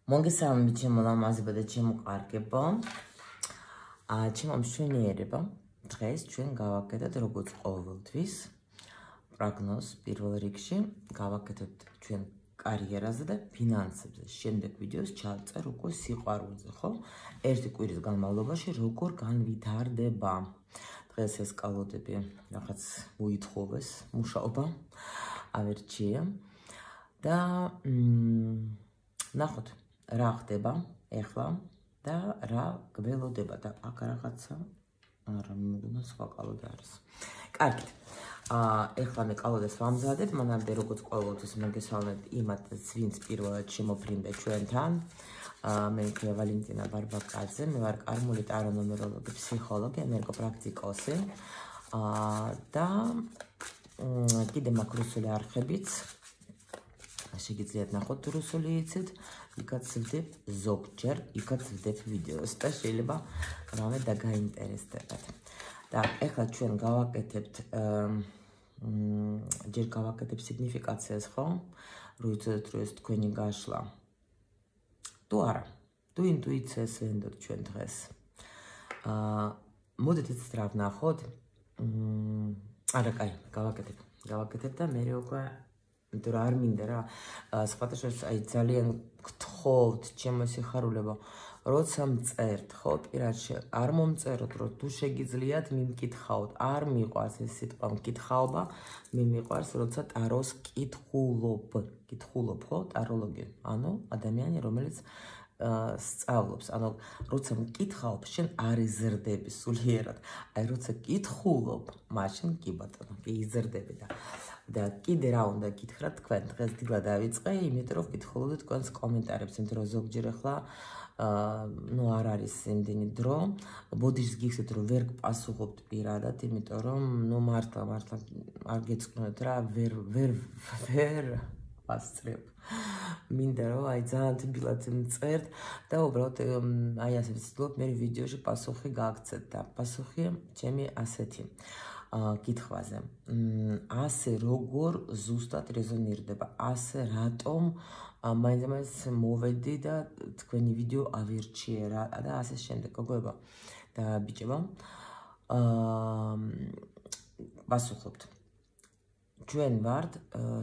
მოგესალმებით ჩემო ლამაზებო და ჩემო კარგებო. ჩემო მშვენიერებო. დღეს ჩვენ გავაკეთებთ როგორც ყოველთვის პროგნოზს პირველ რიგში, გავაკეთებთ ჩვენ კარიერაზე და ფინანსებზე. შემდეგ ვიდეოს ჩავწერ უკვე სიყვარულზე, ხო? ერთი კვირის განმავლობაში როგორ განვითარდება. დღეს ესკალოდები რაღაც მოითხოვეს მუშაობა. ავერჩია და ნახოთ რა ხდება ეხლა და რა გველოდება და აქ რაღაცა არა მეგონა სხვა კალოდი არის. კარგით. ეხლა მე კალოდას ვამზადებ, მანამდე როგორც ყოველთვის მოგესალმებით იმათაც, ვინც პირველად შემოფრინდა ჩვენთან. მე ვიყავ ვალენტინა ბარბაკაძე, მე ვარ კარმული ტარონომეროლოგი, ფსიქოლოგი, ენერგოპრაქტიკოსი. და კიდე მაქვს რუსული არხებიც. შეგიძლიათ ნახოთ რუსული იცით, იქაც ვდებ ზოგჯერ, იქაც ვდებ ვიდეოს და შეიძლება რამე დაგაინტერესდებათ. და ეხლა ჩვენ გავაკეთებთ ჯერ გავაკეთებ სიგნიფიკაციას, ხო? რო იცოდეთ, რომ ეს თქვენი გაშლა. თუ არა, თუ ინტუიციას ვენდოთ ჩვენ დღეს. მოდით ეს რა ვნახოთ. არა, კაი, გავაკეთებ და მე უკვე იმიტომ არ მინდა რა სხვადასხვა აი ძალიან გთხოვთ ჩემო სიხარულებო როცა მწერთ ხო პირადში არ მომწეროთ რომ თუ შეგიძლიათ მიმკითხავთ არ მიყვარს ეს სიტყვა მკითხაობა მე მიყვარს როცა ტაროს კითხულობ ხო ტაროლოგი ანუ ადამიანი რომელიც სწავლობს ანუ როცა მკითხავ შენ არ იზრდები სულიერად აი როცა კითხულობ მაშინ კი ბატონო კი იზრდები და კიდე რა უნდა გითხრათ თქვენ დღეს დილა დავიწყე იმიტომ რომ ვკითხულობდი თქვენს კომენტარებს იმიტომ რომ ზოგჯერ ახლა ну არ არის იმდენი დრო ბოდიშს გიხსენებთ რომ ვერ გპასუხობთ პირადად იმიტომ რომ ну მართლა არ გეწკვნოთ რა ვერ ვასწრებ მინდა რომ აი ძალიან თბილად მწერთ და უბრალოდ აი ასე ვცდილობ მე ვიდეოში პასუხი გააგცეთ და პასუხი ჩემი ასეთი კითხვაზე ასე როგორ ზუსტად რეზონირდება ასე რატომ მაინც მოვედი და თქვენი ვიდეო ავირჩიე რა და ასე შემდეგ გოგოებო და ბიჭებო პასუხობთ ჩვენ ვართ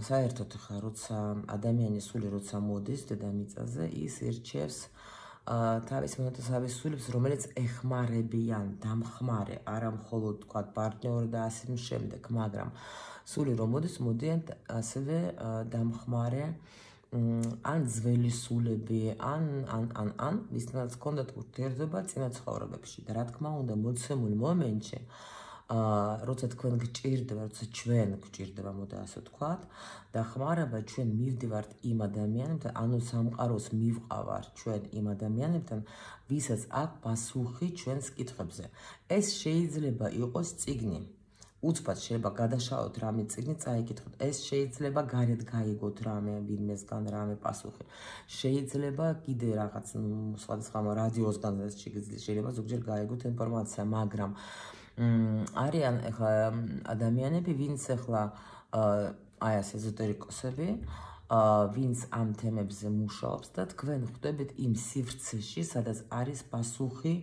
საერთოდ ხა როცა ადამიანის სული როცა მოდის დედამიწაზე ის ირჩევს თავის მონათესავეს სულებს რომელიც ეხმარებიან დამხმარე არა მხოლოდ თქვა პარტნიორი და ასე შემდეგ მაგრამ სული რომ მოდის მოდიან ასევე დამხმარე ან ძველი სულები ან ვისთანაც ჰქონდათ ურთიერთობა წინა ცხოვრებებში და რა თქმა უნდა მოცემულ მომენტში როცა თქვენ გჭირდება, როცა ჩვენ გჭირდება, მოდა ასე ვთქვათ, დახმარება ჩვენ მივდივართ იმ ადამიანებთან, ანუ სამყაროს მივყავართ ჩვენ იმ ადამიანებთან, ვისაც აქვს პასუხი ჩვენს კითხვებზე. ეს შეიძლება იყოს წიგნი. უცბად შეიძლება გადაშალოთ რამე წიგნი, წაიკითხოთ. ეს შეიძლება გარეთ გაიგოთ რამე ვინმესგან რამე პასუხი. შეიძლება კიდე რაღაც სხვადასხვა რადიოსგან შეიძლება ზოგჯერ გაიგოთ ინფორმაცია, მაგრამ არიან ახლა ადამიანები, ვინც ახლა აი ასე ეზოტერიკოსები, ვინც ამ თემებზე მუშაობს და თქვენ ხვდებით იმ სივრცეში, სადაც არის პასუხი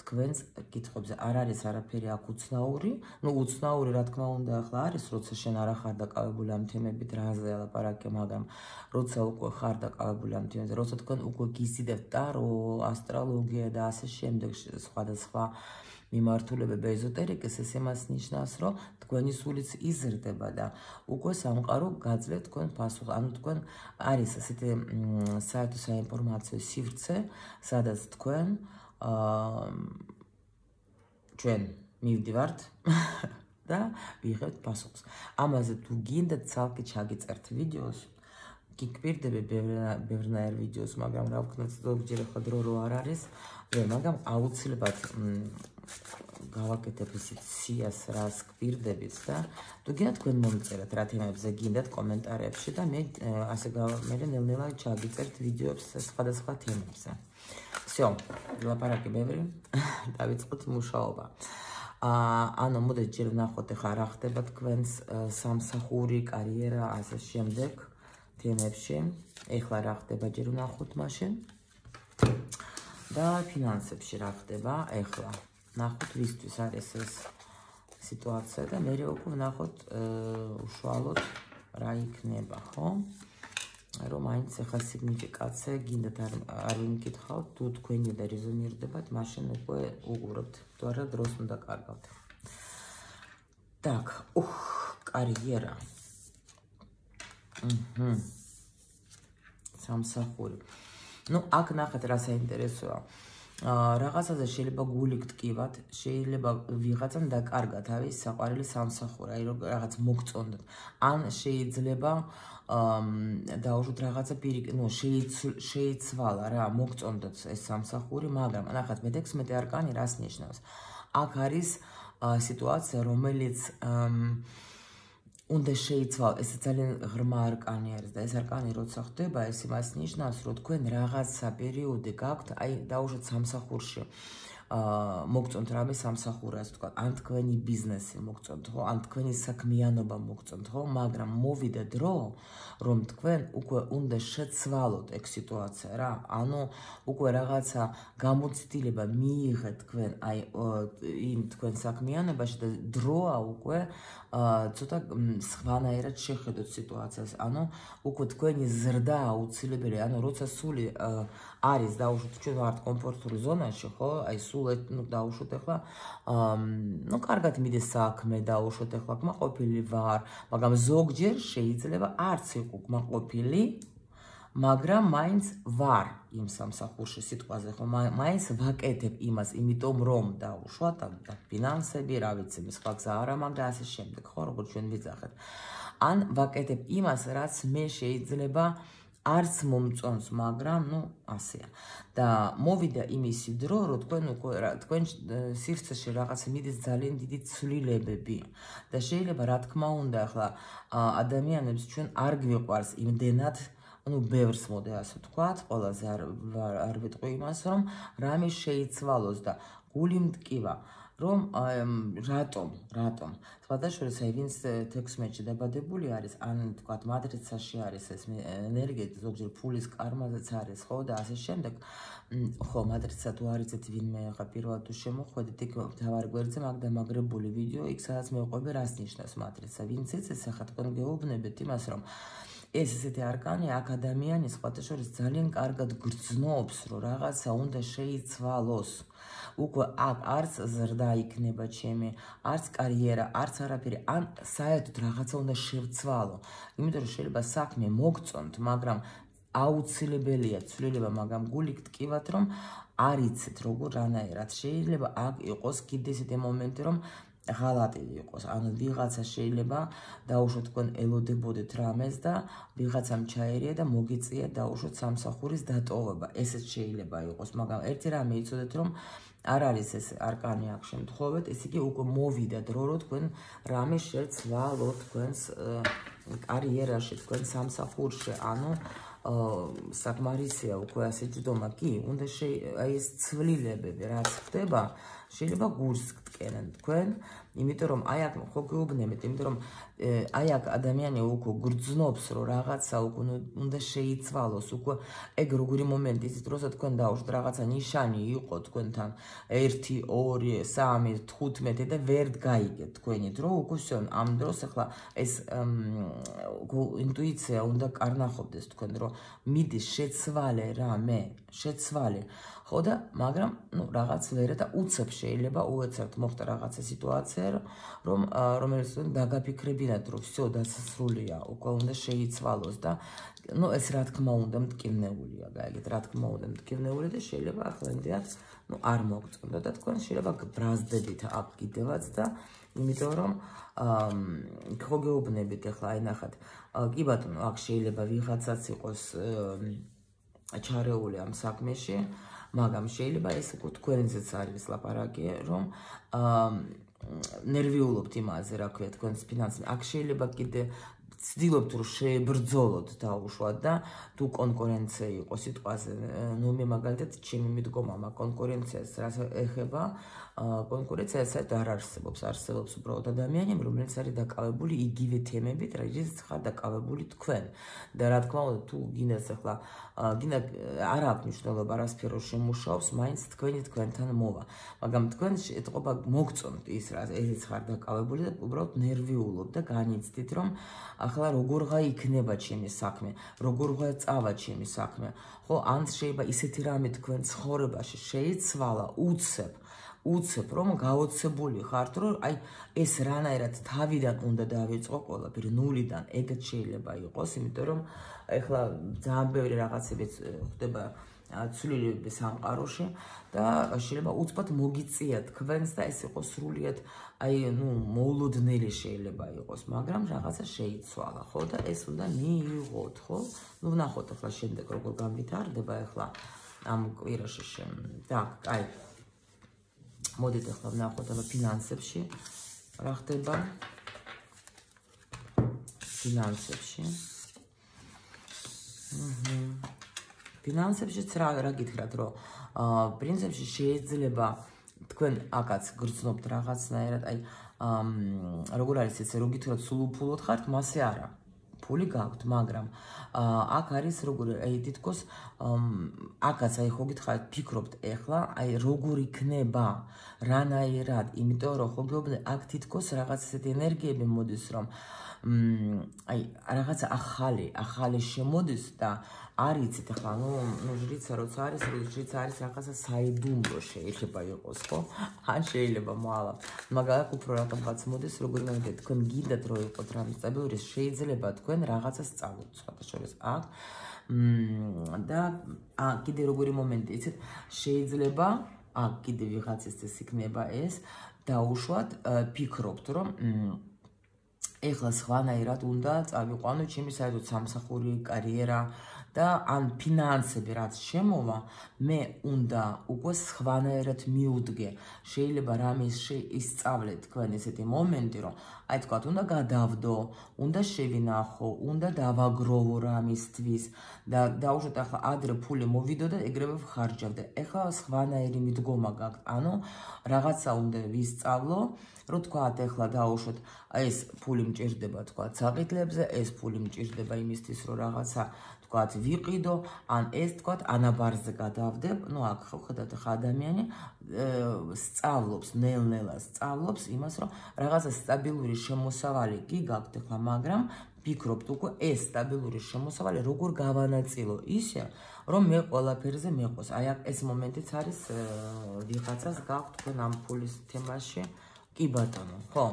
თქვენს კითხვებზე. არ არის არაფერი აქ უცნაური, ну უცნაური რა თქმა უნდა ახლა არის, როცა შენ არ ხარ დაკავებული ამ თემებით, რაზე ლაპარაკე, მაგრამ როცა უკვე ხარ დაკავებული ამ თემებზე, როცა თქვენ უკვე გიზიდებთ ტარო, ასტროლოგია და ასე შემდეგ სხვადასხვა მიმართულებები ეზოტერიკის ეს იმას ნიშნავს, რომ თქვენი სულიც იზრდება და უკვე სამყარო გაძლევთ თქვენ პასუხს. ანუ თქვენ არის ასეთი საერთო საინფორმაციო სივრცე, სადაც თქვენ ჩვენ მივდივართ და ვიღებთ პასუხს. ამაზე თუ გინდათ ცალკე ჩაგიწერთ ვიდეოს, გიკვირდები ბევრნაირ ვიდეოს, მაგრამ რა ვქნათ ზოგჯერ ახლა დრო რო არ არის, მაგრამ აუცილებლად გავაკეთებ ისეთ სიას რას გვირდებით და თუ გინდათ თქვენ მომწერეთ რა თემებზე გინდათ კომენტარებში და მე ასე მე ნელ-ნელა ჩაგიწერთ ვიდეოებს სხვადასხვა თემებზე. всё, ლაპარაკი ბევრი, დავიწყოთ მუშაობა. ანუ მოდით ჯერ ვნახოთ ახლა რა ხდება თქვენს სამსახური, კარიერა, ასე შემდეგ თემებში. ეხლა რა ხდება ჯერ ვნახოთ მაშინ. და ფინანსებში რა ხდება ეხლა ნახოთ ვისთვის არის ეს სიტუაცია და მე უკვე ვნახოთ უშუალოდ რა იქნება ხო რომ მაინც ახლა სიგნიფიკაცია გინდათ არ ვიმკითხავთ თუ თქვენი და რეზონირდებათ მაშინ უკვე უყურებთ თუ არა დროს უნდა კარგავთ так კარიერა სამსახური ну აქ ნახეთ რა საინტერესოა რაღაცაზე შეიძლება გული გტკივათ, შეიძლება ვიღაცამ დაკარგა თავის საყვარელი სამსახური, აი რაღაც მოგწონდეთ. ან შეიძლება დაუშვათ რაღაცა შეიცვალა რა, მოგწონდეთ ეს სამსახური, მაგრამ ნახეთ მე-16 არკანი რას ნიშნავს? აქ არის სიტუაცია, რომელიც უნდა შეიცვალოს, ეს ძალიან ღრმა არკანი არის და ეს არკანი როცა ხდება, ეს იმას ნიშნავს, რომ თქვენ რაღაცა პერიოდი გაქვთ, აი დაუშვათ სამსახურში. მოგწონთ რამე სამსახური, ასე ვთქვათ, ან თქვენი ბიზნესი მოგწონთ, ხო? ან თქვენი საქმიანობა მოგწონთ, ხო? მაგრამ მოვიდა დრო, რომ თქვენ უკვე უნდა შეცვალოთ ეგ სიტუაცია რა. ანუ უკვე რაღაცა გამოცდილება მიიღეთ თქვენ აი იმ თქვენ საქმიანობაში და დროა უკვე ცოტა სხვანაირად შეხედოთ სიტუაციას. ანუ უკვე თქვენი ზრდა აუცილებელი, ანუ როცა სული არის დაუშვათ ჩვენ ვართ კომფორტული ზონაში, ხო? აი სულ დაუშვათ ახლა ну კარგად მიდის საქმე დაუშვათ ახლა კმაყოფილი ვარ, მაგრამ ზოგჯერ შეიძლება არც იყო კმაყოფილი, მაგრამ მაინც ვარ იმ სამსახურში სიტყვაზე, ხო? მაინც ვაკეთებ იმას, იმიტომ რომ დაუშვათ და ფინანსები, რა ვიცი, სხვა გზა არა მაქვს და ასე შემდეგ, ხო, როგორც ჩვენ ვიძახეთ. ან ვაკეთებ იმას, რაც მე შეიძლება არც მომწონს, მაგრამ ну ასეა. და მოვიდა იმისი დრო, რომ თქვენ სივრცეში რაღაც მიდის ძალიან დიდი ცვლილებები და შეიძლება რა თქმა უნდა ახლა ადამიანებს ჩვენ არ გვიყვარს იმდენად ну ბევრს მოდე ასე ვთქვათ, ყველაზე არ ვიტყვი იმას, რომ რამე შეიცვალოს და გული მტკივა, რომ რატომ? სხვადასხვა აი ვინც 16-ში დაბადებული არის, ან ვთქვათ მატრიცაში არის ეს ენერგია, ზოგჯერ ფულის კარმაზეც არის, ხო და ასე შემდეგ. ხო, მატრიცა თუ არიცით ვინმე ახლა პირველად თუ შემოხვედით, იქ თავარი გვერდზე მაგ დამაგრებული ვიდეო, იქ სადაც მევყვები რას ნიშნავს მატრიცა. ვინც იცის, ახლა თქვენ გეუბნებით იმას, რომ ეს ესეთი არკანი აქ ადამიანის სხვადასხვა ძალიან კარგად გრძნობს, რომ რაღაცა უნდა შეიცვალოს. უკვე აქ არც ზრდა იქნება ჩემი, არც კარიერა, არც არაფერი, ან საერთოდ რაღაცა უნდა შევცვალო. იმიტომ რომ შეიძლება საქმე მოგწონთ, მაგრამ აუცილებელია ცვლილება, მაგრამ გული გტკივათ, რომ არ იცით როგორ რანაირად. შეიძლება აქ იყოს კიდე ესეთი მომენტი, რომ ღალატი იყოს, ანუ ვიღაცა შეიძლება დაუშვათ თქვენ ელოდებოდეთ რამეს და ვიღაცამ ჩაერია და მოგიწია დაუშვათ სამსახურის დატოვება. ესეც შეიძლება იყოს, მაგრამ ერთი რამე იცოდეთ, რომ არ არის ეს არკანი აქ შემთხვევით, ესე იგი უკვე მოვიდა დრო, რომ თქვენ რამე შეცვალოთ თქვენს კარიერაში, თქვენ სამსახურში, ანუ საკმარისია უკვე ასე ჯდომა კი, უნდა აი ეს ცვლილებები რაც ხდება, შეიძლება გულს გტკენენ თქვენ, იმიტომ რომ აი აქ ხო გეუბნებით, იმიტომ რომ აი აქ ადამიანი უკვე გრძნობს, რომ რაღაცა უკვე უნდა შეიცვალოს, უკვე ეგ როგორი მომენტი ის დროსაც თქვენ დაუშვათ რაღაცა ნიშანი იყო თქვენთან 1, 2, 3, 15 და ვერ გაიგეთ თქვენი დრო, უკვე всё, ამ დროს ახლა ეს ინტუიცია უნდა კარნახობდეს თქვენ, რომ მიდის შეცვალე რამე, შეცვალე ხო და მაგრამ ну რაღაც ვერა და უცებ შეიძლება უეცერთ მოხდა რაღაცა სიტუაცია რომელიც დაგაფიქრებინათ რომ всё დასასრულია უკვე უნდა შეიცვალოს და ну ეს რა თქმა უნდა მტკივნეულია გაიგეთ რა თქმა უნდა მტკივნეული და შეიძლება ახლანდაც ну არ მოგწონდა და თქვენ შეიძლება ბრაზდებით აქ კიდევაც და იმიტომ რომ ხო გეუბნებით ახლა აი ნახეთ კი ბატონო აქ შეიძლება ვიღაცაც იყოს ჩარეული ამ საქმეში მაგრამ შეიძლება ეს უკვე თქვენზეც არის ლაპარაკი რომ ნერვიულობთ იმაზე რა ქვია თქვენს ფინანსები აქ შეიძლება კიდე ცდილობთ რომ შეებრძოლოთ დაუშვათ და თუ კონკურენცია იყოს სიტყვაზე ნუ მე მაგალითად ჩემი მიდგომა მაგ კონკურენციას რაც ეხება კონკურენცია საერთოდ არ არსებობს უბრალოდ ადამიანები რომელიც არის დაკავებული იგივე თემებით რაზეც ხარ დაკავებული თქვენ და რა თქმა უნდა თუ გინდათ ახლა გინდა არ აქვს მნიშვნელობა რა სფერო შემუშავობს მაინც თქვენთან მოვა მაგრამ თქვენ ეთყობა მოგწონთ ის რა ესეც ხარ დაკავებული და უბრალოდ ნერვიულობ და განიცდით რომ ახლა როგორღა იქნება ჩემი საქმე როგორღა წავა ჩემი საქმე ხო ან შეიძლება ისეთი რამე თქვენ ცხოვრებაში შეიცვალა უცებ რომ გაოცებული ხართ რომ აი ეს რანაირად თავიდან უნდა დავიწყო ყველაფერი ნულიდან ეგეც შეიძლება იყოს იმიტომ რომ ეხლა ძალიან ბევრი რაღაცები ხდება ცვლილები სამყაროში და შეიძლება უცბად მოგიწია თქვენს და ეს იყოს სრულიად აი ნუ მოულოდნელი შეიძლება იყოს მაგრამ რაღაცა შეიცვალა ხო და ეს უნდა მიიღოთ ხო ნუ ვნახოთ ახლა შემდეგ როგორ განვითარდება ახლა ამ კვირაში так აი მოდით ახლა ვნახოთ ახლა ფინანსებში რა ხდება ფინანსებში ფინანსებშიც რა გითხრათ რომ პრინციპში შეიძლება თქვენ აკაც გრძნობთ რაღაცნაირად აი როგორ არის ეს რომ გითხრათ სულ უფულოდ ხართ მასე არა ფული გაქვთ მაგრამ აქ არის როგორ აი თითქოს აკაც აი ხო გითხარით ფიქრობთ ეხლა აი როგორ იქნება რანაირად იმიტომ რომ ხო გეუბნე აქ თითქოს რაღაც ესეთი ენერგიები მოდის რომ აი რაღაცა ახალი შემოდის და არ იცით ახლა ნუ ჟრიცა როცა არის ჟრიცა არის რაღაცა საიდუმლო შეიძლება იყოს ხო ან შეიძლება მოალა მაგრამ უფრო რაღაც მოდის როგორ მაგეთ თქვენ გინდათ რომ იყოთ რამე სტაბილური შეიძლება თქვენ რაღაცას სწავლოთ სხვადასხვა აქ და კიდე როგორი მომენტი იცით შეიძლება აქ კიდე ვიღაცის ეს იქნება ეს დაუშვათ ფიქრობთ რომ ეხლა სხვანაირად უნდა წავიყვანო ჩემი საერთოდ სამსახური კარიერა და ან ფინანსები რაც შემოვა მე უნდა უკვე სხვანაირად მიუდგე შეიძლება რამე ისწავლე თქვენ ესეთი მომენტი რომ აი თქვა უნდა გადავდო უნდა შევინახო უნდა დავაგროვო რამისთვის და დაუშვათ ახლა ადრე ფული მოვიდო და ეგრევე ვხარჯავდე ეხლა სხვანაირი მიდგომა გაქვთ ანუ რაღაცა უნდა ვისწავლო რომ თქვათ ეხლა დაუშვათ ეს ფული მჭირდება თქვათ საყიდლებზე ეს ფული მჭირდება იმისთვის რომ რაღაცა თქვათ ვიყიდო ან ეს თქვათ ანაბარზე გადავდებ ნუ აქ ხო ხედავთ ხა ადამიანი სწავლობს ნელ-ნელა სწავლობს იმას რომ რაღაცა სტაბილური შემოსავალი კი გაქვთ ახლა მაგრამ ფიქრობთ უკვე ეს სტაბილური შემოსავალი როგორ გავანაწილო ისე რომ მე ყველაფერზე მეყოს აი ეს მომენტიც არის ვიღაცას გაქვთ თქვენ ამ ფულის თემაში კი ბატონო ხო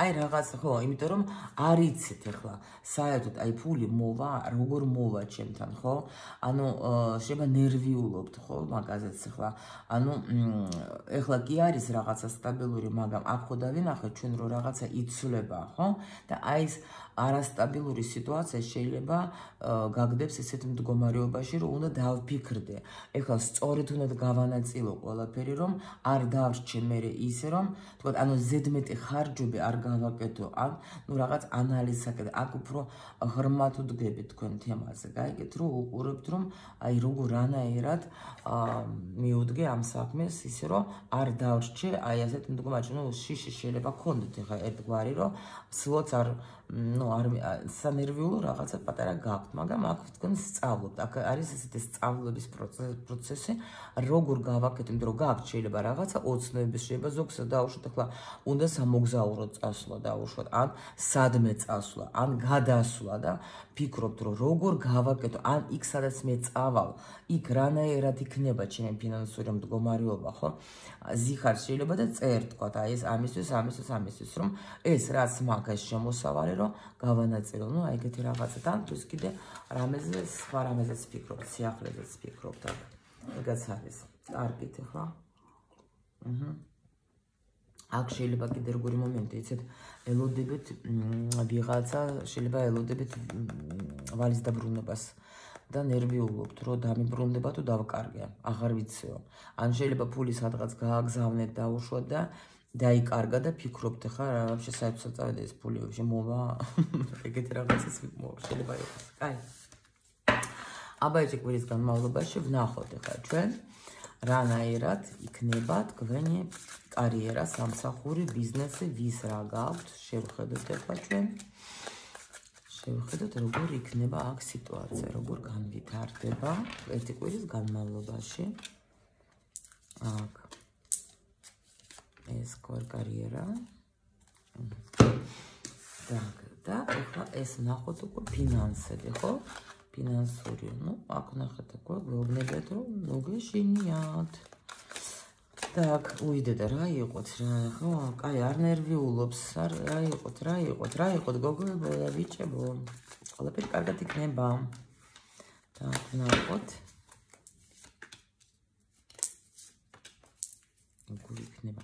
აი რაღაც ხო იმიტომ რომ არ იცით ახლა საერთოდ აი ფული მოვა როგორ მოვა ჩემთან ხო ანუ შეიძლება ნერვიულობთ ხო მაგაზეც ახლა ანუ ახლა კი არის რაღაცა სტაბილური მაგრამ აქ ხო დავინახეთ ჩვენ რომ რაღაცა იცვლება ხო და აი ეს არასტაბილური სიტუაცია შეიძლება გაგდებს ესეთ მდგომარეობაში რომ უნდა დავფიქრდე ეხლა სწორედ უნდა გავანაწილო ყველაფერი რომ არ დავრჩე მე ისე რომ თქვა ანუ ზედმეტი ხარჯები არ გავაკეთო ან ნუ რაღაც ანალიზაკეთე აქ უფრო ღრმად ვდგებით თქვენ თემაზე გაიგეთ რომ უყურებთ რომ აი როგორ რანაირად მიუდგე ამ საქმეს ისე რომ არ დავრჩე აი ასეთ მდგომარეობაში ნუ შიში შეიძლება გქონდეთ ეხლა ერთგვარი რომ სულაც არ ნუ არ სანერვიულო რაღაცა პატარა გაქვთ მაგრამ აქ თქვენ სწავლობთ აქ არის ესეთი სწავლების პროცესი როგორ გავაკეთო იმიტომ რომ გაქვთ შეიძლება რაღაცა ოცნების შეიძლება ზოგს დაუშვათ ახლა უნდა სამოგზაურო წასვლა დაუშვათ ან სადმე წასვლა ან გადასვლა და ფიქრობთ რომ როგორ გავაკეთო ან იქ სადაც მე წავალ იქ რანაირად იქნება ჩემი ფინანსური მდგომარეობა ხო ზიხარ შეიძლება და წერ თქვა აი ეს ამისთვის რომ ეს რაც მაგას შემოსავალი რომ გავანაწილო ნუ აი ეგეთი რაღაცა და თუ კიდე რამეზე სხვა რამეზეც ფიქრობთ სიახლეზეც ფიქრობთ ეგაც არის კარგით ახლა აქ შეიძლება კიდე როგორი მომენტი იცით ელოდებით ვიღაცა შეიძლება ელოდებით ვალის დაბრუნებას და ნერვიულობთ რომ დამიბრუნდება თუ დავკარგე აღარ ვიციო ან შეიძლება ფული სადღაც გააგზავნეთ დაუშვათ და დაიკარგა და ფიქრობთ ხა რა вообще საერთოდ წავედა ეს ფული вообще მოვა ეგეთი რაღაცას შეიძლება იყოს. კაი. აბა ეს კვირის განმავლობაში ვნახოთ ხა ჩვენ რანაირად იქნება თქვენი კარიერა, სამსახური, ბიზნესი, ვის რა გაქვთ, შევხედოთ ხა ჩვენ. შევხედოთ როგორ იქნება აქ სიტუაცია, როგორ განვითარდება ერთი კვირის განმავლობაში. აქ ეს კარიერა. Так, და ახლა ეს ნახოთ უკვე ფინანსები, ხო? ფინანსური, ну, აქ ნახეთ უკვე გვეუბნებათ, რომ მოგეშინიათ. Так, უიდეთ რა იყოთ რა, ხო? კაი, არ ნერვიულობს, რა იყოთ, გოგოებო და ბიჭებო. ყველაფერი კარგად იქნება. Так, ნახოთ. როგორ იქნება.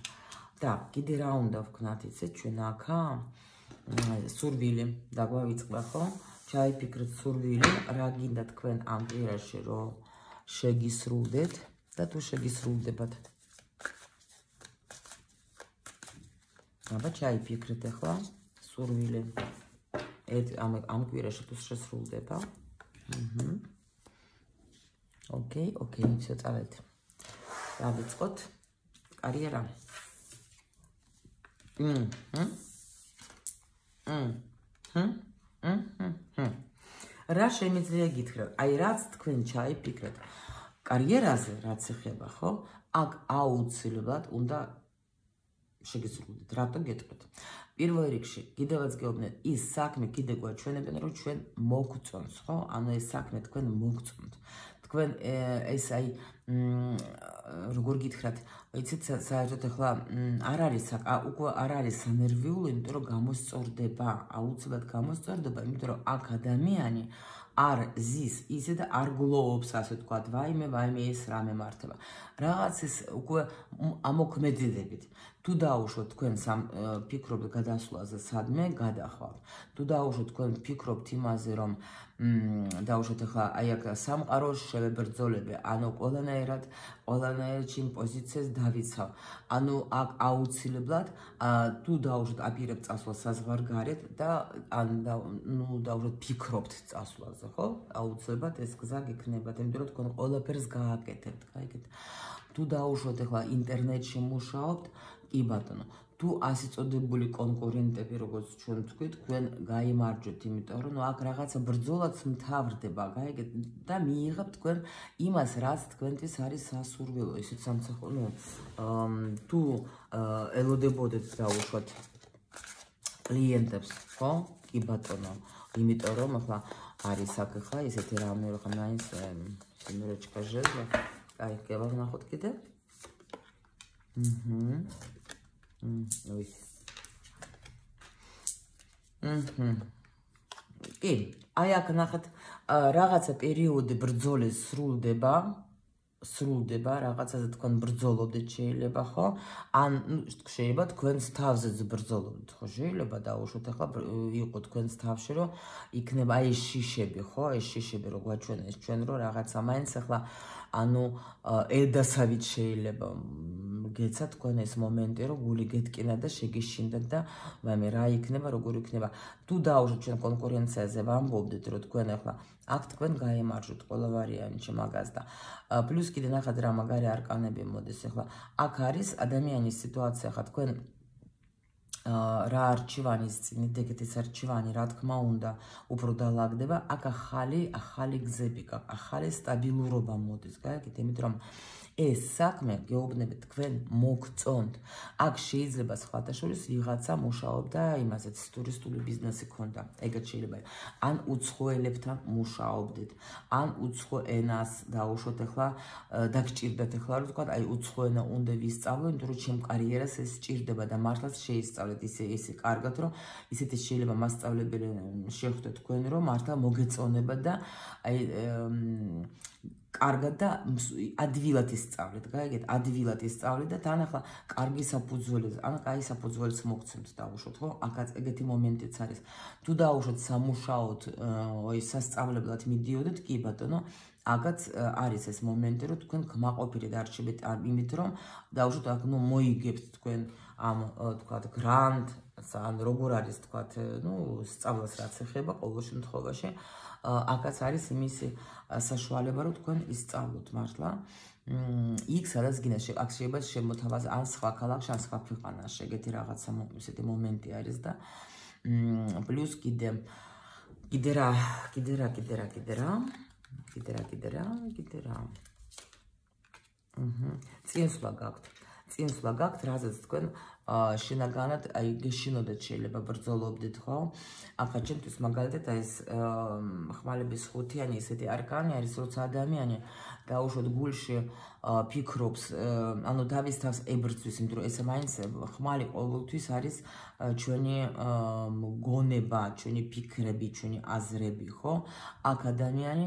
Так, კიდე რა უნდა ვქნათ იცით ჩვენ აქა? სურვილი დაგვავიწყდა, ხო? ჩაიფიქრეთ სურვილი, რა გინდა თქვენ ამ კვირაში რომ შეგისრულდეთ და თუ შეგისრულდებათ. აბა ჩაიფიქრეთ ახლა სურვილი. ამ კვირაში თუ შესრულდება. ოკეი, ისე წავედ. დავიწყოთ კარიერა. რა შემიძლია გითხრათ? აი რაც თქვენ ჩაიფიქრეთ კარიერაზე, რაც ეხება, ხო? აქ აუცილებლად უნდა შეგისრულდეთ. რატო გეტყვით? პირველ რიგში, კიდევაც გეუბნეთ, ის საქმე კიდე გვაჩვენებენ, რომ ჩვენ მოგწონს, ხო? ანუ ეს საქმე თქვენ მოგწონთ. თქვენ ეს აი როგორ გითხრათ, იცით საერთოდ ახლა უკვე არ არის სანერვიული, იმიტომ რომ გამოსწორდება, აუცილებლად გამოსწორდება, იმიტომ რომ აქ ადამიანი არ ზის ისე და არ გლოვობს, ასე ვთქვათ, ვაიმე ეს რა მემართება. რაღაც ის უკვე ამოქმედებით. თუ დაუშვოთ თქვენ ფიქრობთ გადასვლაზე სადმე გადახვალთ. თუ დაუშვოთ თქვენ ფიქრობთ იმაზე, რომ დაუშვოთ ახლა აი აქ სამყაროს შევებრძოლები, ანუ ყველანაირად ჩემ პოზიციას დავიცავ. ანუ აქ აუცილებლად თუ დაუშვოთ აპირებთ წასვლა საზღვარგარეთ და დაუშვოთ ფიქრობთ წასვლაზე, ხო? აუცილებლად ეს გზა გექნებათ, იმიტომ რომ თქვენ ყველაფერს გააკეთებთ, გაიგეთ. თუ დაუშვოთ ახლა ინტერნეტში მუშაობთ, კი ბატონო, თუ ასე წოდებული კონკურენტები, როგორც ჩვენ ვთქვით, თქვენ გაიმარჯვეთ, იმიტომ რომ აქ რაღაცა ბრძოლაც მთავრდება, გაიგეთ და მიიღებთ თქვენ იმას, რაც თქვენთვის არის სასურველო, ისეთ სამსახური, თუ ელოდებოდეთ დაუშვათ კლიენტებს, ხო? კი ბატონო, იმიტომ რომ ახლა არის აქ ახლა ესეთი რამე, რომ მაინც სიმერეჩკა ჟეზლა. აი, გევნახოთ კიდე. კი, აი აქ ნახეთ, რაღაცა პერიოდი ბრძოლის სრულდება, რაღაცაზე თქვენ ბრძოლობდეთ შეიძლება, ხო? ან შეიძლება თქვენს თავზეც ბრძოლობდეთ, ხო? შეიძლება დაუშვოთ ახლა იყო თქვენს თავში, რომ იქნება აი ეს შიშები, ხო? ეს შიშები რო გვაჩვენეს ჩვენ, რომ რაღაცა მაინც ახლა ანუ ელდასავით შეიძლება გეცა თქვენ ეს მომენტი, რომ გული გეტკინა და შეგიშინდეთ და მე რა იქნება, როგორ იქნება. თუ დაუშვოთ ჩვენ კონკურენციაზე ვამბობდით, რომ თქვენ ახლა აქ თქვენ გაემარჯვეთ ყველა ვარიანტში მაგას და პლუს კიდე ნახეთ რა მაგარი არკანები მოდის ახლა. აქ არის ადამიანის სიტუაცია, ხა თქვენ რა არჩევანის წინით ეგეთის არჩევანი, რა თქმა უნდა, უფრო დალაგდება, აქ ახალი გზები გაქვს, ახალი სტაბილურობა მოდის, გაიგეთ, იმიტომ რომ ეს საქმე გეუბნებით თქვენ მოგწონთ. აქ შეიძლება სხვათაშორის ვიღაცა მუშაობდა იმასაც ტურისტული ბიზნესი ქონდა, ეგეთ შეიძლება. ან უცხოელებთან მუშაობდით, ან უცხო ენას დაუშვოთ ახლა დაგჭირდათ ახლა რომ თქვა, აი უცხო ენა უნდა ვისწავლო, იმიტომ რომ ჩემ კარიერას ეს სჭირდება და მართლაც შეისწავლეთ ისე კარგად, რომ ისეთი შეიძლება მასწავლებელი შეხვდეთ თქვენ, რომ მართლა მოგეწონება და აი კარგად და ადვილად ისწავლეთ, გაიგეთ, ადვილად ისწავლეთ და თან ახლა კარგი საფუძველი, ან კაი საფუძველს მოგცემთ დაუშვოთ, ხო? აქაც ეგეთი მომენტიც არის. თუ დაუშვოთ სამუშაოდ, სასწავლებლად მიდიოდეთ, კი ბატონო, აგაც არის ეს მომენტი, რომ თქვენ კმაყოფილედ არჩევთ იმით, რომ დაუშვათ აქ მოიგებთ თქვენ ამ თქვათ გრანტს, ან როგორ არის თქვათ, სწავლას რაც ეხება ყოველ შემთხვევაში, აქაც არის იმისი საშუალება, რომ თქვენ ისწავლოთ მართლა. იქ სადაც გინდა აქ შეიძლება შემოთავაზ ან სხვა ქალაქში, ან სხვა ქვეყანაში, ეგეთი რაღაცა ისეთი მომენტი არის და პლუს კიდე რა წინსვლა გაქვთ, რაზეც თქვენ შინაგანად გეშინოდეთ, შეიძლება ბრძოლობდით, ხო? ახლა ჩემთვის მაგალითად ეს ხმალების ხუთიანი ესეთი არკანი არის, როცა ადამიანი დაუშვათ გულში ფიქრობს, ანუ თავის თავს ებრძვის, იმიტომ რომ ეს მაინც ხმალი ყოველთვის არის ჩვენი გონება, ჩვენი ფიქრები, ჩვენი აზრები, ხო? აქ ადამიანი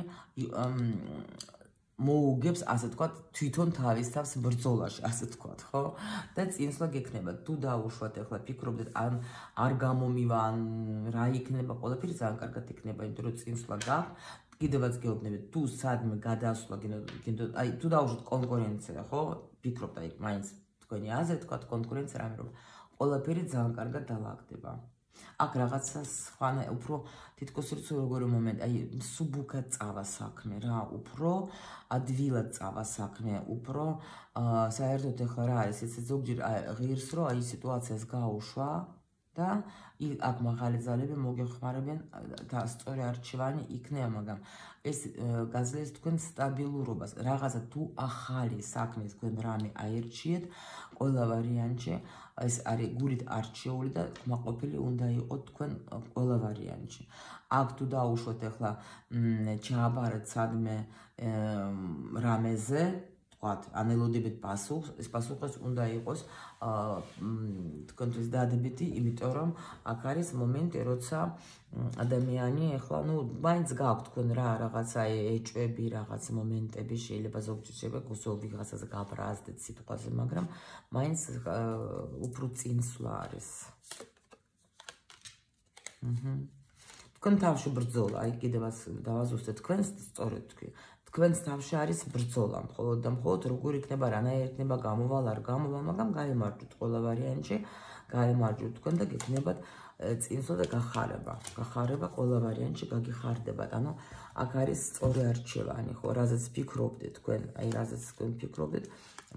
მოუგებს, ასე თქვათ, თვითონ თავის თავს ბრძოლაში, ასე თქვათ, ხო? და წინსვლა გექნება, თუ დაუშვათ, ახლა ფიქრობდეთ, ან არ გამომივა, ან რა იქნება, ყველაფერი ძალიან კარგად იქნება, იმიტომ რომ წინსვლა გაქვთ, კიდევაც გეუბნებით, თუ სადმე გადასვლა გინდოთ, აი, თუ დაუშვათ კონკურენცია, ხო? ფიქრობთ, აი, მაინც თქვენი აზრი, თქვათ, კონკურენცია რამე რომ ყველაფერი ძალიან კარგად დაალაგდება. აქ რაღაცა სხვა, უფრო თითქოს როგორი მომენტი, აი, სუბუქად წავა საქმე რა, უფრო ადვილად წავა საქმე, უფრო საერთოდ ახლა რა არის, ესე ზოგჯერ ღირს რომ აი სიტუაციას გაუშვა და აქ მაღალი ძალები მოგეხმარებიან და სწორი არჩევანი იქნება, მაგრამ ეს გაძლევს თქვენ სტაბილურობას, რაღაცა თუ ახალი საქმე თქვენ რამე აერჩიეთ, ყველა ვარიანტში ეს არის გულით არჩეული და კმაყოფილი უნდა იყოთ თქვენ ყველა ვარიანტში. აქ თუ დაუშვათ ახლა ჩააბარეთ სადმე რამეზე, თქვათ, ანელოდებით პასუხს, ეს პასუხი უნდა იყოს თქვენთვის დადებითი, იმიტომ რომ აქ არის მომენტი, როცა ადამიანი ახლა, მაინც გაქვთ თქვენ რა, რაღაცა ეჭვები, რაღაც მომენტები, შეიძლება ზოგჯერ შეიძლება ვიღაცაზე გაბრაზდეთ სიტყვაზე, მაგრამ მაინც უფრო წინსვლა არის. თქვენ თავში ბრძოლა, აი კიდევაც დავაზუსტეთ თქვენს, სწორედ თქვი. თქვენს თავში არის ბრძოლა, მხოლოდ და მხოლოდ როგორ იქნება, რანაირად იქნება, გამოვალ, არ გამოვალ, მაგრამ გაიმარჯვოთ ყველა ვარიანტში, გაიმარჯვოთ თქვენ და გექნებათ წინსვლა და გახარება ყველა ვარიანტში გაგიხარდებათ. ანუ აქ არის სწორი არჩევანი, ხო, რაზეც ფიქრობდეთ თქვენ, აი რაზეც თქვენ ფიქრობდეთ,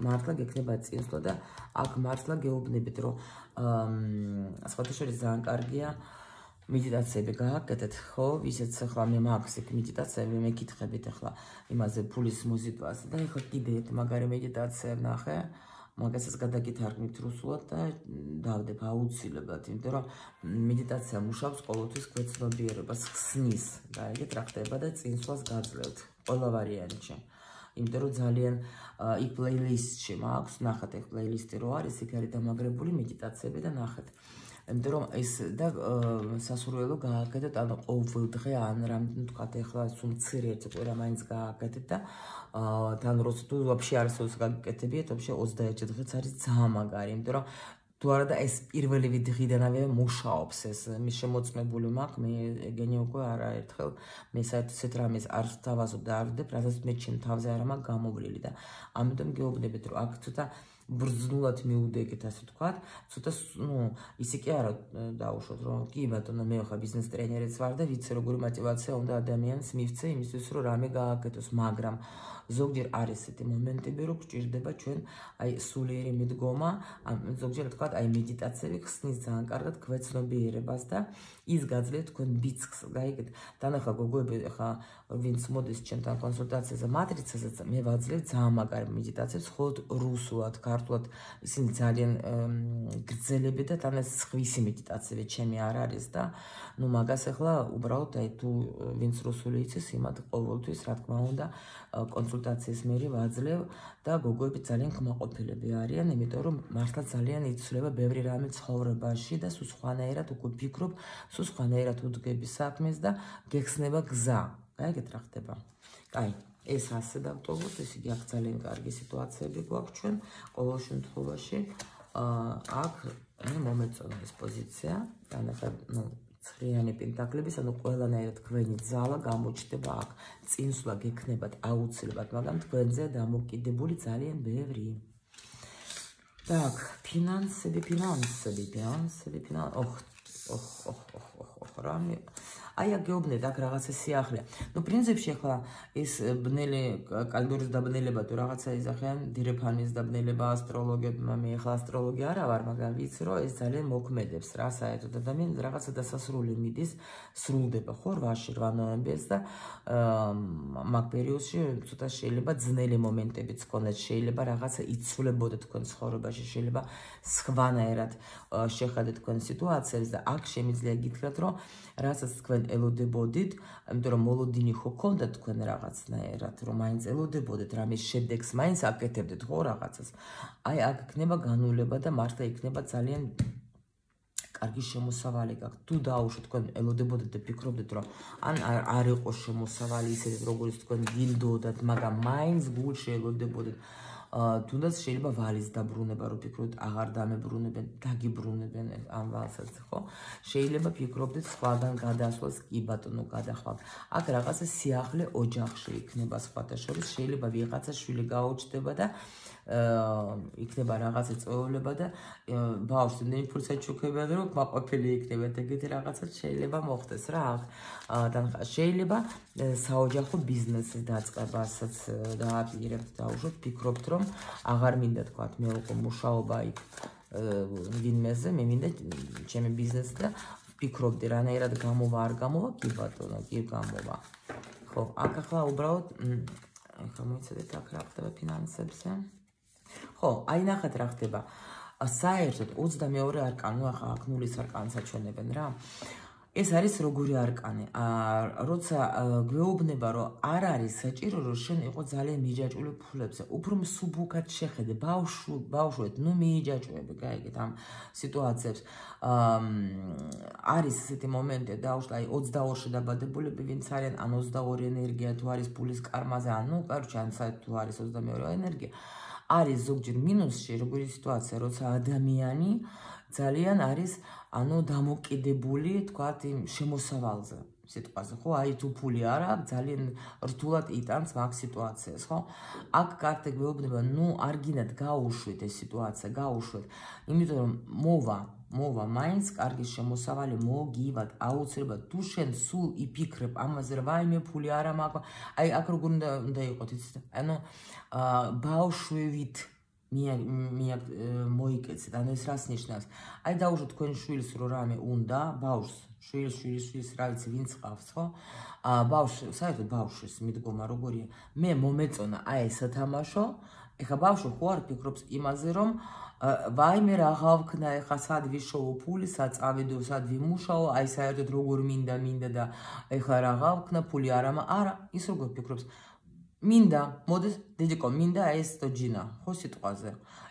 მართლა გექნებათ წინსვლა და აქ მართლა გეუბნებით, რომ სხვათა შორის ძალიან კარგია медитაციები გააკეთეთ, ხო? ვისაც ახლა მე მაქვს იქ медитაციები, მე კითხებით ახლა იმაზე ფულის მოზიდვას და ახლა კიდე ერთ მაგარი медитაცია ვნახე, მაგასაც გადაგითარგმნით რუსულად და დავდებ აუცილებლად, იმიტომ რომ медитაცია მუშაობს ყოველთვის ქვეცნობიერებას ხსნის და ეგეთ რა ხდება და წინსვლას გაძლევთ ყველა ვარიანტში. იმიტომ რომ ძალიან იქ პლეილისტში მაქვს, ნახეთ ეგ პლეილისტი რო არის, იქ არის დამაგრებული медитაციები და ნახეთ. იმიტომ რომ ეს და სასურველო გააკეთეთ, ანუ ყოველ დღე ან რამდენი თქვათ ახლა სულ მცირე ერთი კვირა მაინც გააკეთეთ და თან როცა თუ ვაფშე არსოს გაკეთებიეთ, ვაფშე 21 დღეც არის ძალიან მაგარი, იმიტომ რომ თუ არა და ეს პირველივე დღიდანავე მუშაობს ეს მის შემოწმებული მაქვს, მე ეგენი უკვე არაერთხელ მე საერთოდ ესეთ რამეს არ დავაზობ და არ ვდებ, რასაც მე ჩემ თავზე არ მაქვს გამოვლილი და ამიტომ გეუბნებით, რომ აქ ცოტა ბრძნულად მიუდეგეთ, ასე თქვათ, ცოტა, ისე კი არა დაუშვოთ, რომ კი ბატონო, მე ხა ბიზნეს ტრენერიც ვარ და ვიცი როგორი мотиваცია უნდა ადამიანს მივცე იმისთვის, რომ რამე გააკეთოს, მაგრამ ზოგჯერ არის ესეთი მომენტები, რომ გჭირდება ჩვენ აი სულიერი მიდგომა, ზოგჯერ თქვათ, აი медитაციები ხსნის ძალიან კარგად ქვეცნობიერებას და ის გაძლევთ თქვენ ბიძგს, გაიგეთ? დანახა გოგოები, ხა ვინც მოდის ჩემთან კონსულტაციაზე მატრიცაზეც, მე ვაძლევ ძალიან მაგარი медитაციებს, ხოლოდ რუსულად, ქართულად, ისინი ძალიან გრძელები და თან ეს სხვისი медитაციები ჩემი არ არის და მაგას ახლა უბრალოდ აი თუ ვინც რუსული იცის, იმათ ყოველთვის რა თქმა უნდა კონსულტაციის მერე ვაძლევ და გოგოები ძალიან კმაყოფილები არიან, იმიტომ რომ მართლა ძალიან იცვლება ბევრი რამე ცხოვრებაში და სულ სხვანაირად უკვე ფიქრობ, სულ სხვანაირად უდგები საქმეს და გეხსნება გზა. გაიგეთ რა ხდება? კაი, ეს ასე დავტოვოთ, ესე იგი აქ ძალიან კარგი სიტუაციები გვაქვს ჩვენ ყოველ შემთხვევაში. აქ მომეწონა ეს პოზიცია, ან ახლა ცხრიანი პენტაკლების, ანუ ყველანაირად თქვენი ძალა გამოჩნდება აქ. წინსვლა გექნებათ აუცილებლად, მაგრამ თქვენზე დამოკიდებული ძალიან ბევრი. Так, ფინანსები. რამე აი აქ გეუბნეთ, აქ რაღაცა სიახლეა. ნუ პრინციპში ახლა ეს ბნელი კალენდორის დაბნელება თუ რაღაცა იზახიან, დირეფანის დაბნელება, ასტროლოგია, მე ახლა ასტროლოგია არა ვარ, მაგრამ ვიცი რომ ეს ძალიან მოქმედებს რა, საერთოდ ადამიანს რაღაცა დასასრული მიდის, სრულდება ხო 8 ნოემბერს და მაგ პერიოდში ცოტა შეიძლება ძნელი მომენტებიც გქონდეთ, შეიძლება რაღაცა იცვლებოდეთ თქვენ ცხოვრებაში, შეიძლება სხვანაირად შეხედეთ თქვენ სიტუაციებს და აქ შემიძლია გითხრათ რომ რასაც თქვენ ელოდებოდით, იმიტომ რომ მოლოდინი ხო გქონდათ თქვენ რაღაცნაირად, რომ მაინც ელოდებოდეთ რამის შედეგს, მაინც აკეთებდეთ ხო რაღაცას. აი აქ იქნება განვლება და მართლა იქნება ძალიან კარგი შემოსავალი გაქვთ. თუ დაუშვით თქვენ ელოდებოდეთ და ფიქრობდეთ რომ ან არ იყო შემოსავალი ისეთ როგორც თქვენ გინდოდათ, მაგრამ მაინც გულში ელოდებოდეთ. თუნდაც შეიძლება ვალის დაბრუნება რო ფიქრობთ აღარ დამებრუნებენ, დაგიბრუნებენ ამ ვალსაც ხო? შეიძლება ფიქრობდეთ სხვაგან გადასვლას, კი ბატონო გადახვალ. აქ რაღაცა სიახლე ოჯახში იქნება სხვათა შორის, შეიძლება ვიღაცა შვილი გაუჩნდება და იქნება რაღაცა წვეულება და ბავშვს იმდენი ფურცად ჩუქებიან რომ მაყოფილი იქნებათ, ეგეთი რაღაცაც შეიძლება მოხდეს რა აქ. შეიძლება საოჯახო ბიზნესის დაწყებასაც დააპირებთ, დაუშვოთ, ფიქრობთ რომ აღარ მინდა თქვათ მე უკვე მუშაობა იქ ვინმეზე, მე მინდა ჩემი ბიზნესი და ფიქრობდი რანაირად გამოვა, არ გამოვა, კი ბატონო, კი გამოვა. ხო, აქ ახლა უბრალოდ ახლა მოიცადეთ აქ რა ხდება ფინანსებზე. ხო, აი ნახეთ რა ხდება. საერთოდ 22 არკანი, ახლა აქ 0-ის არკანს აჩვენებენ რა. ეს არის როგორი არკანი. როცა გვეუბნება რომ არ არის საჭირო რომ შენ იყო ძალიან მიჯაჭვული ფულებზე, უფრო მსუბუქად შეხედე, ბავშვეთ, ნუ მიიჯაჭვები, გაიგეთ ამ სიტუაციებს. არის ესეთი მომენტი, დაუშვით, აი 22-ში დაბადებულები ვინც არიან, ან 22 ენერგია თუ არის ფულის კარმაზე, ანუ კარჩი ან საერთოდ თუ არის 22 ენერგია. არის ზოგჯერ მინუსში, როგორი სიტუაცია, როცა ადამიანი ძალიან არის, ანუ დამოკიდებული, თქვათ, იმ შემოსავალზე, სიტყვაზე, ხო? აი თუ ფული არ აქვს, ძალიან რთულად იტანს მაგ სიტუაციას, ხო? აქ კარგი გვეუბნება, ნუ არ გინდათ გაუშვით ეს სიტუაცია, გაუშვით, იმიტომ რომ მოვა მაინც კარგი შემოსავალი მოგივათ, აუცილებლად თუ შენ სულ იფიქრებ ამაზე რომ ვაიმე ფული არა მაქვს, აი აქ როგორ უნდა იყოთ, იცით? ანუ ბავშვივით მოიკეცეთ, ანუ ეს რას ნიშნავს? აი დაუშვით თქვენ შვილს რო რამე უნდა, ბავშვს, შვილს, რა ვიცი, ვინც ყავს, ხო? ბავშვს, საერთოდ ბავშვის მიდგომა როგორია? მე მომეწონა აი ეს სათამაშო, ეხა ბავშვი ხო არ ფიქრობს იმაზე, რომ ვაიმე რა გავქნა, ეხა სად ვიშოვო ფული, სად წავიდო, სად ვიმუშაო, აი საერთოდ როგორ მინდა და ეხა რა გავქნა, ფული არა, ის როგორ ფიქრობს? მინდა, მოდის, დედიკო, მინდა ეს დოჯინა, ხო სიტყვაზე.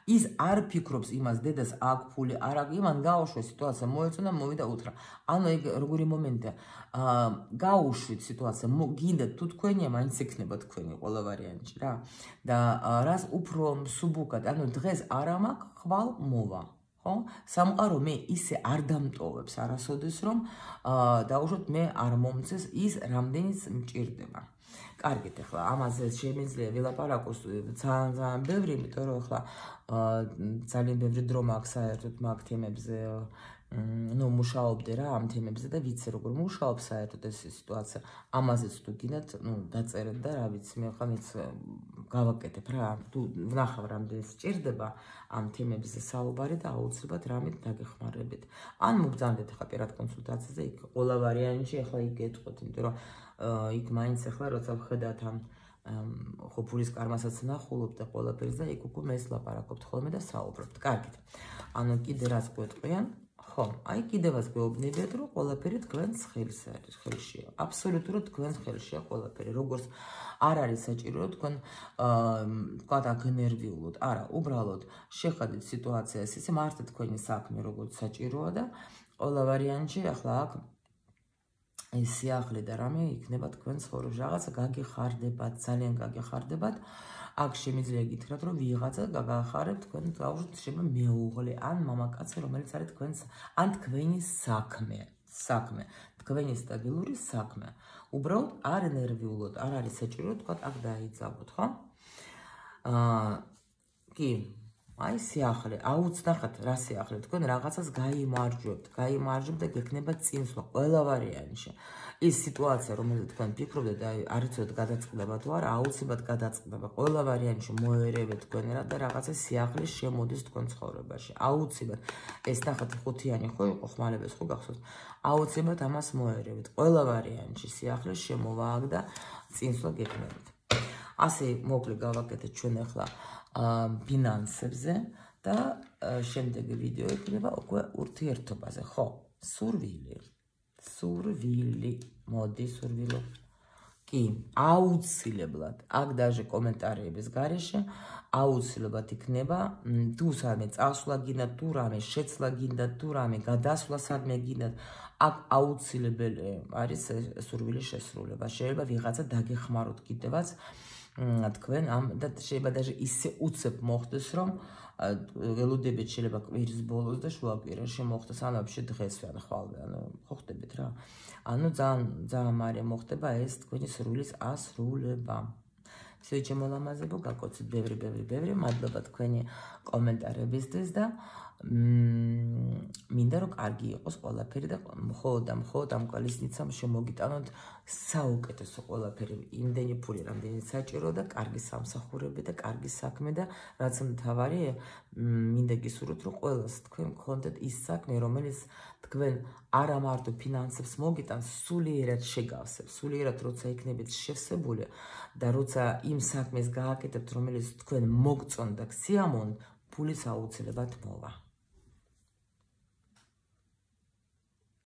ის არ ფიქრობს იმას, დედას აქ ფული არ აქვს, იმან გაუშვა სიტუაცია, მოეწონა, მოვიდა უთხრა. ანუ ეგ როგორი მომენტია, გაუშვით სიტუაცია, გინდა თუ თქვენია, მაინც იქნება თქვენი ყველა ვარიანტი რა. და რას უფრო მსუბუქად, ანუ დღეს არ მაქვს, ხვალ მოვა. ხო? სამყარო მე ისე არ დამტოვებს არასოდეს რომ დაუშვოთ მე არ მომწეს ის რამდენიც მჭირდება. კარგით, ახლა ამაზე შემიძლია ვილაპარაკოს ძალიან ბევრი, იმიტომ რომ ახლა ძალიან ბევრი დრო მაქვს საერთოდ მაგ თემებზე, ნუ მუშაობდი რა ამ თემებზე და ვიცი როგორ მუშაობ საერთოდ ეს სიტუაცია. ამაზეც თუ გინდათ, ნუ დაწერეთ და რა ვიცი, მე ხა მეც გავაკეთებ რა, თუ ვნახავ რამდენი სჭირდება ამ თემებზე საუბარი და აუცილებლად რამით დაგეხმარებით. ან მობრძანდეთ ახლა პირად კონსულტაციაზე, იქ ყველა ვარიანტში ახლა იქ გეტყვით, იმიტომ რომ იქ მაინც ახლა როცა ვხედავთ ამ ხო ფულის კარმასაც ნახულობ და ყველაფერს და იქ უკვე მეს ლაპარაკობთ ხოლმე და საუბრობთ. კარგით. ანუ კიდე რაც გვეტყვიან, ხო, აი კიდევაც გვეუბნებიათ, რომ ყველაფერი თქვენს ხელშია. აბსოლუტურად თქვენს ხელშია ყველაფერი. როგორც არ არის საჭირო, რომ თქვენ თქვათ აქ ნერვიულოთ. არა, უბრალოდ შეხედეთ სიტუაციას, ისე მართლა თქვენი საქმე როგორც საჭიროა და ყველა ვარიანტში ახლა აქ ეს სიახლე და რამე იქნება თქვენ ცხოვრებაში. რაღაცა გაგეხარდებათ, ძალიან გაგეხარდებათ. აქ შემიძლია გითხრათ, რომ ვიღაცა გაგახარებთ თქვენ დაუშვით შეიძლება მეუღლე ან მამაკაცი, რომელიც არის თქვენს ან თქვენი საქმე. საქმე, თქვენი სტაბილური საქმე. უბრალოდ არ ნერვიულოთ, არ არის საჭირო თქვა აქ დაიძაბოთ, ხო? კი, აი სიახლე, აუცნახეთ რა სიახლე, თქვენ რაღაცას გაიმარჯვებთ და გექნება წინსვლა ყველა ვარიანტში. ის სიტუაცია, რომელზეც თქვენ ფიქრობთ და არ იცოდეთ გადაწყდება თუ არა, აუცილებლად გადაწყდება. ყველა ვარიანტში მოერევეთ თქვენ და რაღაცა სიახლე შემოდის თქვენ ცხოვრებაში. აუცილებლად. ეს ნახეთ ხუთიანი ხო იყო ხმალების ხო გახსოვთ? აუცილებლად ამას მოერევეთ. ყველა ვარიანტში სიახლე შემოვა აქ და წინსვლა გექნებით. ასე მოკლე გავაკეთეთ ჩვენ ახლა ფინანსებზე და შემდეგი ვიდეო იქნება უკვე ურთიერთობაზე, ხო? სურვილი, მოდი სურვილო. კი, აუცილებლად, აქ დაჟე კომენტარების გარეშე აუცილებლად იქნება თუ სადმე წასვლა გინდათ, თუ რამე შეცვლა გინდათ, თუ რამე გადასვლა სადმე გინდათ, აქ აუცილებელი არის სურვილის შესრულება. შეიძლება ვიღაცა დაგეხმაროთ კიდევაც თქვენ ამ და შეიძლება даже ისე უცებ მოხდეს რომ ველოდებით შეიძლება კვირის ბოლოს და შუაკვირაში მოხდეს ან вообще დღესვე ან ხვალვე ანუ ხო ხდებით რა ანუ ძალიან მალე მოხდება ეს თქვენი სურვილის ასრულება. Всё ჩემო ლამაზებო გაკოცეთ ბევრი მადლობა თქვენი კომენტარებისთვის და მინდა რომ კარგი იყოს ყველაფერი და მხოლოდ ამ კვალისნიცამ შემოგიტანოთ საუკეთესო ყველაფერი იმდენი ფული რამდენიც საჭირო და კარგი სამსახურები და კარგი საქმე და რაც მთავარია მინდა გისურვოთ რომ ყველას თქვენ გქონდეთ ის საქმე რომელიც თქვენ არა მარტო ფინანსებს მოგიტანს სულიერად შეგავსებს სულიერად როცა იქნებით შევსებული და როცა იმ საქმეს გააკეთებთ რომელიც თქვენ მოგწონთ და გსიამოვნთ ფულის აუცილებლად მოვა.